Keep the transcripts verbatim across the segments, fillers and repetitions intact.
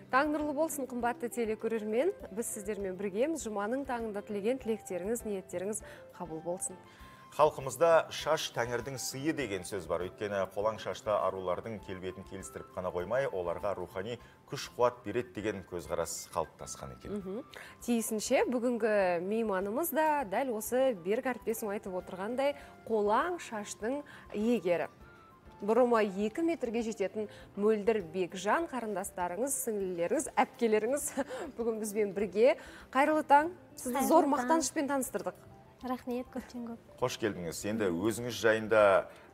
Таң нұрлы болсын, қымбатты телекөрермен. Біз сіздермен біргеміз. Жұманың таңында тілеген тілектеріңіз, ниеттеріңіз қабыл болсын. Халқымызда шаш тәңірдің сыйы деген сөз бар. Өйткені қолаң шашта арулардың келбетін келістіріп қана қоймай, оларға рухани күш-қуат береді деген көзқарас қалыптасқан екен. Тиісінше бүгінгі мейманымыз да дәл осы берік әріптесім айтып отырғандай қолаң шаштың иегері. Бұрыма екі метрге жететін мөлдір Бекжан қарындастарыңыз, сіңлілеріңіз, әпкелеріңіз бүгін бізбен бірге. Қайырлы таң, сізді зор мақтанышпен таныстырдық. Рахмет, көптен көп. Қош келдіңіз. Енді өзіңіз жайында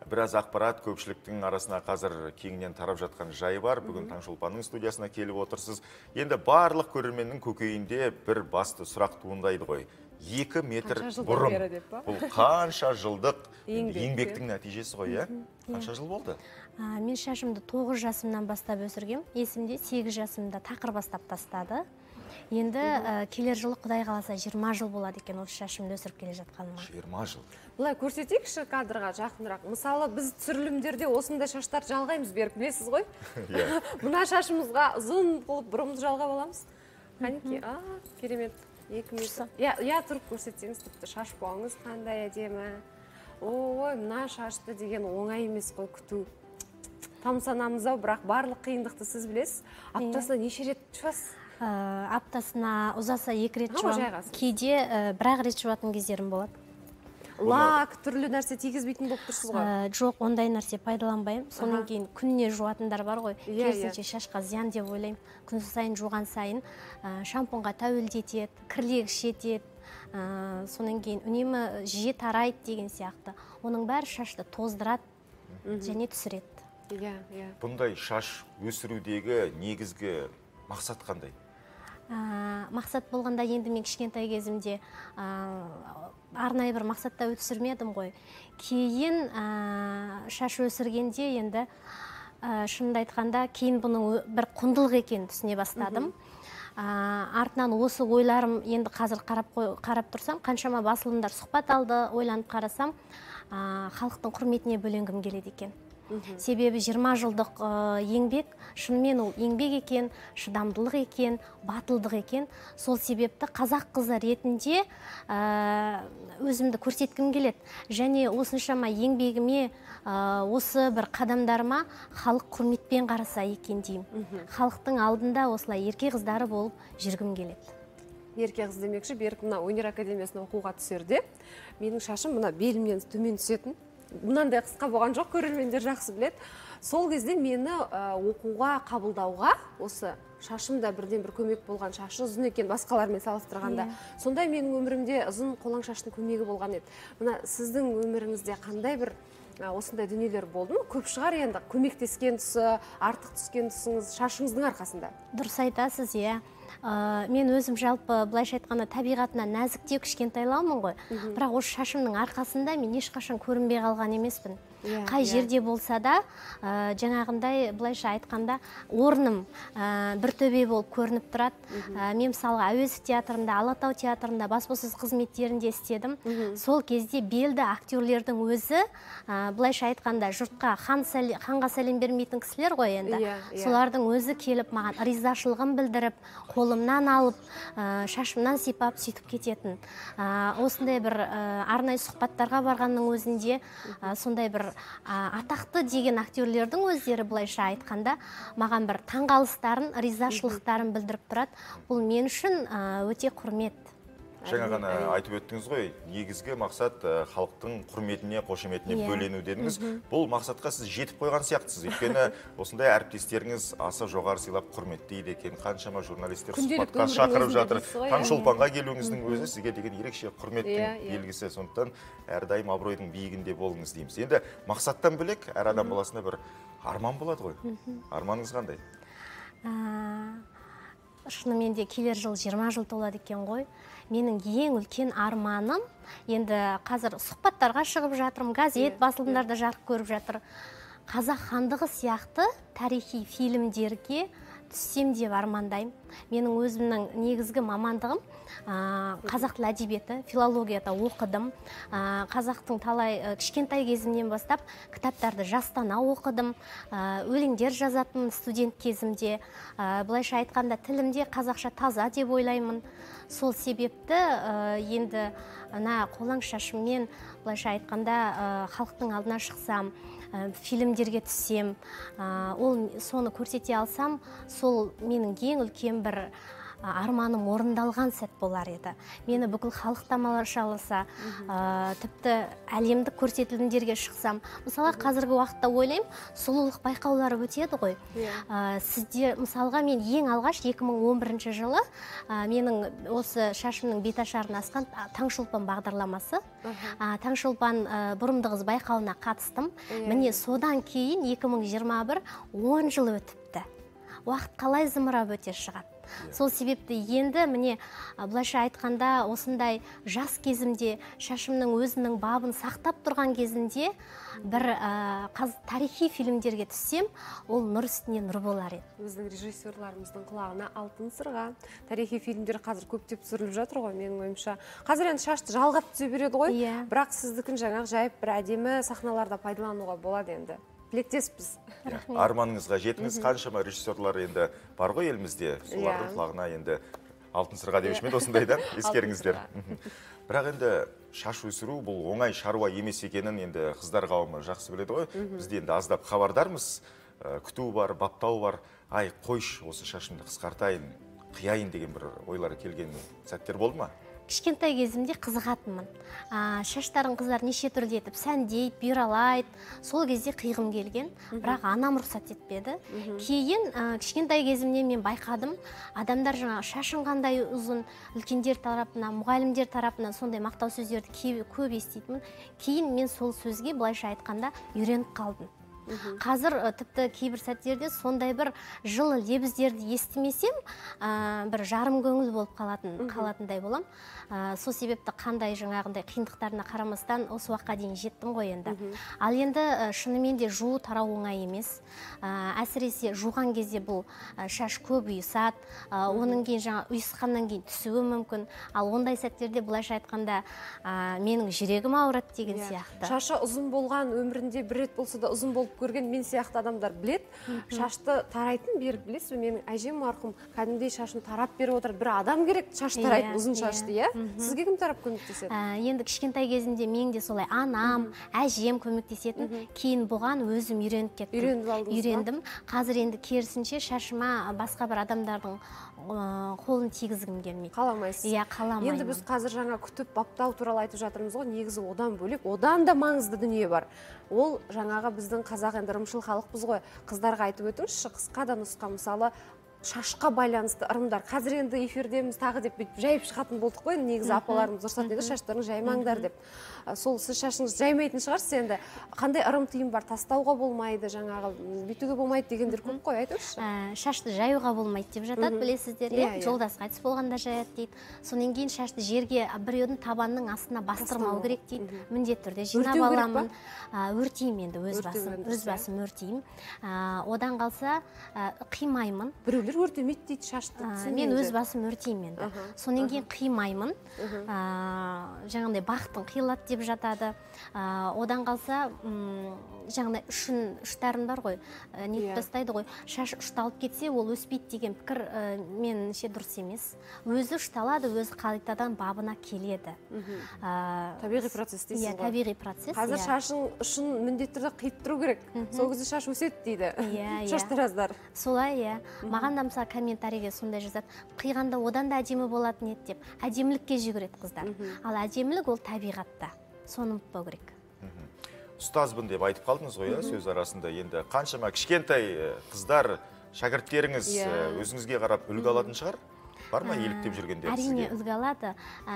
біраз ақпарат көпшіліктің арасына қазір кеңінен тарап жатқан жайы бар. Бүгін Таңшолпанның студиясына келіп отырсыз. Енді барлық көрерменнің көкейінде бір басты сұрақ туындайды ғой. Екі метр бұрын. Бұл қанша жылдық еңбектің нәтижесі ғой, е? Қанша жыл болды? Мен шашымды тоғыз жасымнан бастап өсіргем. Есімде сегіз жасымда тақыр бастап тастады. Енді келер жылы Құдай қаласа жиырма жыл болады екен осы шашымды өсіріп келе жатқаныма. жиырма жыл. Бұлай көрсетейікші кадрға жақынырақ. Мысалы, біз түсірілімдерде осындай шаштар жалғаймыз, беріп білесіз ғой? Мына шашымызға ұзын болып бұрымызды жалғап аламыз. Қанеке, а, керемет. Екі метр. Я тұрып көрсетсеңіз, тіпті шаш буаңыз қандай әдемі. Ой, мына шашты деген оңай емес қой күту. Тамсанамыз ау, бірақ барлық қиындықты сіз білесіз. Аптасына неше рет жуасыз? Аптасына ұзаса екі рет жуам. Кейде бір-ақ рет жуатын кездерім болады. Лак, түрлі нәрсе тигізбейтін болып тұрсыз ғой? Жоқ, ондай нәрсе пайдаланбаймын. Сонан кейін күніне жуатындар бар ғой. Керісінше шашқа зиян деп ойлаймын. Күн сайын жуған сайын шампунға тәуелдетеді, кірлегіш етеді. Сонан кейін үнемі жиі тарайды деген сияқты. Оның бәрі шашты тоздырады және түсіреді. Бұндай шаш өсірудегі негізгі мақсат қандай? Мақсат болғанда енді мен кішкентай кезімде арнайы бір мақсатта өсірмедім ғой. Кейін шаш өсіргенде енді шынымды айтқанда кейін бұның бір құндылық екенін түсіне бастадым. Артынан осы ойларым енді қазір қарап тұрсам, қаншама басылымдар сұхбат алды, ойланып қарасам, халықтың құрметіне бөленгім келеді екен. Себебі жиырма жылдық еңбек, шынымен ол еңбек екен, шыдамдылық екен, батылдық екен. Сол себепті қазақ қызы ретінде өзімді көрсеткім келеді. Және осыншама еңбегіме, осы бір қадамдарыма халық құрметпен қараса екен деймін. Халықтың алдында осылай ерке қыздары болып жүргім келеді. Ерке қыз демекші, берік мына өнер академиясына оқуға түсерде, менің шашым мына белімнен төмен түсетін. Мұнандай қысқа болған жоқ, көрермендер жақсы біледі. Сол кезде мені оқуға қабылдауға, осы шашымда бірден бір көмек болған, шашы ұзын екен басқалармен салыстырғанда. Сондай менің өмірімде ұзын қолаң шаштың көмегі болған еді. Мына сіздің өміріңізде қандай бір осындай дүниелер болды ма? Көп шығар енді, көмектескен тұсы, артық түскен тұсыңыз шашыңыздың арқасында. Дұрыс айтасыз, иә. Мен өзім жалпы былайша айтқанда табиғатына нәзіктеу кішкентайлаумын ғой. Бірақ осы шашымның арқасында мен ешқашан көрінбей қалған емеспін. Қай жерде болса да, жаңағындай былайша айтқанда орным бір төбе болып көрініп тұрады. Мен мысалға Әуезов театрында, Алатау театрында баспасөз қызметтерінде істедім. Сол кезде белді актерлердің өзі былайша айтқанда жұртқа ханға сәлем бермейтін кісілер ғой енді. Солардың өзі келіп маған ризашылығын білдіріп, қолымнан алып, шашымнан сипап сөйтіп кететін. Осындай бір арнайы сұхбаттарға барғанның өзінде сондай бір атақты деген актерлердің өздері былайша айтқанда маған бір таңғалыстарын, ризашылықтарын білдіріп тұрады. Бұл мен үшін өте құрмет. Жаңа ғана айтып өттіңіз ғой, негізгі мақсат халықтың құрметіне, қошеметіне бөлену дедіңіз. Бұл мақсатқа сіз жетіп қойған сияқтысыз. Өйткені осындай әріптестеріңіз аса жоғары сыйлап құрметтейді екен. Қаншама журналистер сұхбатқа шақырып жатыр. Таңшолпанға келуіңіздің өзі сізге деген ерекше құрметтің белгісі. Сондықтан әрдайым абыройдың биігінде болыңыз дейміз. Енді мақсаттан бөлек әр адам баласында бір арман болады ғой. Арманыңыз қандай? Шынымен де келер жыл жиырма жыл толады екен ғой. Менің ең үлкен арманым, енді қазір сұхбаттарға шығып жатырмын, газет, басылымдарда жарық көріп жатыр. Қазақ хандығы сияқты тарихи фильмдерге түссем деп армандаймын. Менің өзімнің негізгі мамандығым қазақ тілі әдебиеті, филологияда оқыдым. Қазақтың талай кішкентай кезімнен бастап кітаптарды жастана оқыдым. Өлеңдер жазатын студент кезімде. Былайша айтқанда тілімде қазақша таза деп ойлаймын. Сол себепті енді ана қолаң шашыммен былайша айтқанда халықтың алдына шықсам, фильмдерге түссем, ол соны көрсете алсам, сол менің ең үлкен бір арманым орындалған сәт болар еді. Мені бүкіл халық тамашаласа, тіпті әлемдік көрсетілімдерге шықсам, мысалы қазіргі уақытта ойлаймын, сұлулық байқаулары өтеді ғой. Сізде мысалға мен ең алғаш екі мың он бірінші жылы менің осы шашымның беташарын асқан Таңшолпан бағдарламасы, Таңшолпан бұрымды қыз байқауына қатыстым. Міне содан кейін екі мың жиырма бір он жыл өтіпті. Уақыт қалай зымырап өте шығады. Сол себепті енді міне былайша айтқанда осындай жас кезімде шашымның өзінің бабын сақтап тұрған кезінде бір тарихи фильмдерге түссем, ол нұр үстіне нұр болар еді. Біздің режиссерларымыздың құлағына алтын сырға. Тарихи фильмдер қазір көптеп түсіріліп жатыр ғой, менің ойымша. Қазір енді шашты жалғап түсе береді ғой, бірақ сіздікін жаңағы жайып бір әдемі сахналарда пайдалануға болады енді. Тілектеспіз. Арманыңызға жетіңіз. Қаншама режиссерлар енді бар ғой елімізде, солардың құлағына енді алтын сырға деуші ме осындайдан ескеріңіздер. Бірақ енді шаш өсіру бұл оңай шаруа емес екенін енді қыздар қауымы жақсы біледі ғой. Бізде енді аздап хабардармыз, күту бар, баптау бар. Ай, қойш, осы шашымды қысқартайын, қияйын деген бір ойлары келген сәттер болды ма? Кішкентай кезімде қызығатынмын. Шаштарын қыздар неше түрлі етіп сәндейді, бүйралайды. Сол кезде қиғым келген, бірақ анам рұқсат етпеді. Кейін кішкентай кезімнен мен байқадым, адамдар жаңағы шашын қандай ұзын, үлкендер тарапынан, мұғалімдер тарапынан сондай мақтау сөздерді көп еститінмін. Кейін мен сол сөзге былайша айтқанда үйреніп қалдым. Қазір тіпті кейбір сәттерде сондай бір жылы лебіздерді естімесем, бір жарым көңіл болып қалатындай болам. Сол себепті қандай жаңағындай қиындықтарына қарамастан осы уақытқа дейін жеттім ғой енді. Ал енді шынымен де жуу тарау оңай емес. Әсіресе жуған кезде бұл шаш көп ұйысады, оның кейін жаңа ұйысқаннан кейін түсуі мүмкін. Ал ондай сәттерде былайша айтқанда менің жүрегім ауырады деген сияқты. Шашы ұзын болған өмірінде бір рет болса да ұзын болып көрген мен сияқты адамдар білет. Шашты тарайтын беріп білесіз, менің әжем марқұм кәдімгідей шашын тарап беріп отыр. Бір адам керек шаш тарайтын, ұзын шашты, иә? Сізге кім тарап көмектеседі? Енді кішкентай кезімде мен де солай анам, әжем көмектесетін. Кейін бұған өзім үйреніп кеттім. Үйреніп алдыңыз ба? Үйрендім. Қазір енді керісінше шашыма басқа бір адамдардың қолын тигізгім келмейді. Қаламайсыз? Иә, қаламаймын. Енді біз қазір жаңа күтіп баптау туралы айтып жатырмыз ғой, негізі одан бөлек, одан да маңызды дүние бар. Ол жаңаға біздің қазақ енді ырымшыл халықпыз ғой. Қыздарға айтып өтіңізші, қысқа да нұсқа, мысалы шашқа байланысты ырымдар. Қазір енді эфирдеміз тағы деп жайып шығатын болдық қой, негізі апаларымыз ұрсат еді, шаштарың жаймаңдар деп. Сол сіз шашыңыз жаймайтын шығарсыз енді. Қандай ырым тыйым бар, тастауға болмайды, жаңағы бүйтуге болмайды дегендер көп қой, айтыңызшы. Шашты жаюға болмайды деп жатады, білесіздер, жолдас қайтыс болғанда жаяды дейді. Сонан кейін шашты жерге біреудің табанның астына бастырмау керек дейді. Міндетті түрде жинап аламын. Өртеймін енді өз басым, өз басым өртеймін. Одан қалса қимаймын. Біреулер өртемейді дейді шашты. Мен өз басым өртеймін енді. Сонан кейін қимаймын. Жаңағындай бақтың қиылады деп жатады. Одан қалса жаңағындай үшін ұштарын бар ғой, нетіп тастайды ғой. Шаш ұшталып кетсе, ол өспейді деген пікір меніңше дұрыс емес. Өзі ұшталады, өзі қайтадан бабына келеді. Табиғи процесс дейсіз ғой. Иә, табиғи процесс. Қазір шашын ұшын міндетті түрде қиып тұру керек. Сол кезде шаш өседі дейді шаштараздар. Солай, иә. Маған да мысалы комментарийге сондай жазады. Қиғанда одан да әдемі болатын еді деп. Әдемілікке жүгіреді қыздар. Ал әдемілік ол табиғатта. Соны ұмытпау керек. Ұстазбын деп айтып қалдыңыз ғой, сөз арасында. Енді қаншама кішкентай қыздар, шәкірттеріңіз өзіңізге қарап үлгі алатын шығар? Бар ма еліктеп жүргендер сізге? Әрине үлгі алады.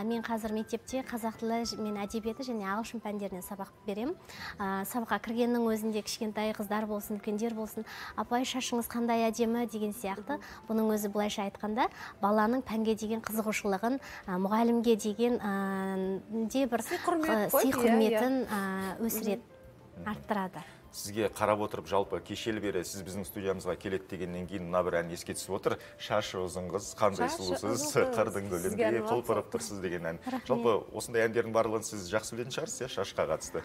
Мен қазір мектепте қазақ тілі мен әдебиеті және ағылшын пәндерінен сабақ беремін. Сабаққа кіргеннің өзінде кішкентай қыздар болсын, үлкендер болсын, апай шашыңыз қандай әдемі деген сияқты. Бұның өзі былайша айтқанда баланың пәнге деген қызығушылығын, мұғалімге деген де бір сый құрметін өсіреді, арттырады. сізге қарап отырып, жалпы кешелі бері сіз біздің студиямызға келеді дегеннен кейін мына бір ән еске түсіп отыр. Шашы ұзын қыз, қандай сұлусыз, қырдың гүліндей құлпырып тұрсыз деген ән. Жалпы осындай әндердің барлығын сіз жақсы білетін шығарсыз, иә, шашқа қатысты?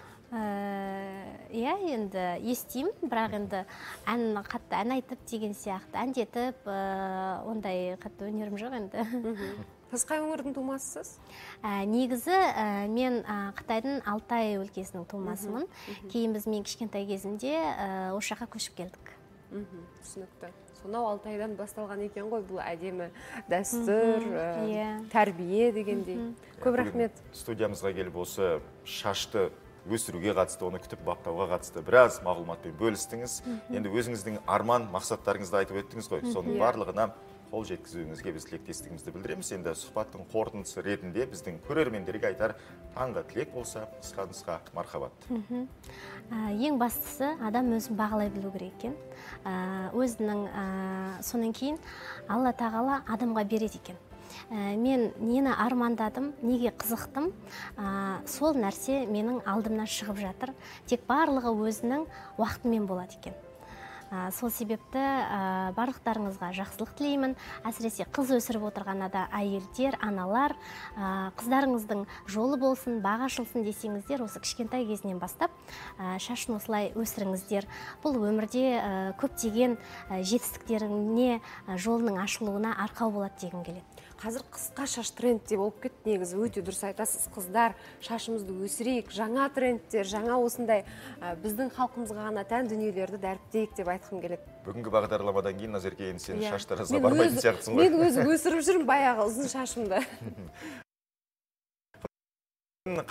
Иә, енді естимін, бірақ енді ән қатты ән айтып деген сияқты, әндетіп, ондай қатты өнерім жоқ енді. Сіз қай өңірдің тумасысыз? Негізі мен Қытайдың Алтай өлкесінің тумасымын. Кейін біз мен кішкентай кезімде осы жаққа көшіп келдік. Түсінікті. Сонау Алтайдан басталған екен ғой бұл әдемі дәстүр, тәрбие дегендей. Көп рахмет. Студиямызға келіп осы шашты өсіруге қатысты, оны күтіп баптауға қатысты біраз мағлұматпен бөлістіңіз. Енді өзіңіздің арман мақсаттарыңызды айтып өттіңіз ғой. Соның барлығына қол жеткізуіңізге біз тілектестігімізді білдіреміз. Енді сұхбаттың қорытындысы ретінде біздің көрермендерге айтар таңғы тілек болса, қысқа-нұсқа мархабат. Ең бастысы адам өзін бағалай білу керек екен. Өзінің сонан кейін Алла тағала адамға береді екен. Мен нені армандадым, неге қызықтым, сол нәрсе менің алдымнан шығып жатыр. Тек барлығы өзінің уақытымен болады екен. Сол себепті барлықтарыңызға жақсылық тілеймін. Әсіресе қыз өсіріп отырған ада әйелдер, аналар, қыздарыңыздың жолы болсын, бағы ашылсын десеңіздер, осы кішкентай кезінен бастап шашын осылай өсіріңіздер. Бұл өмірде көптеген жетістіктеріне жолының ашылуына арқау болады дегім келеді. Қазір қысқа шаш трендте болып кетті, негізі өте дұрыс айтасыз, қыздар, шашымызды өсірейік, жаңа трендтер, жаңа осындай біздің халқымызға ғана тән дүниелерді дәріптейік деп айтқым келеді. Бүгінгі бағдарламадан кейін Назерке, енді сен шаштарыңызға бармайтын сияқтысың ғой. Мен өзім өсіріп жүрмін баяғы ұзын шашымды.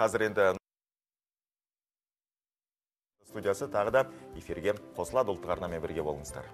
Қазір енді студиясы тағы да эфирге қосылады. Ұлттық арнамен бірге болыңыздар.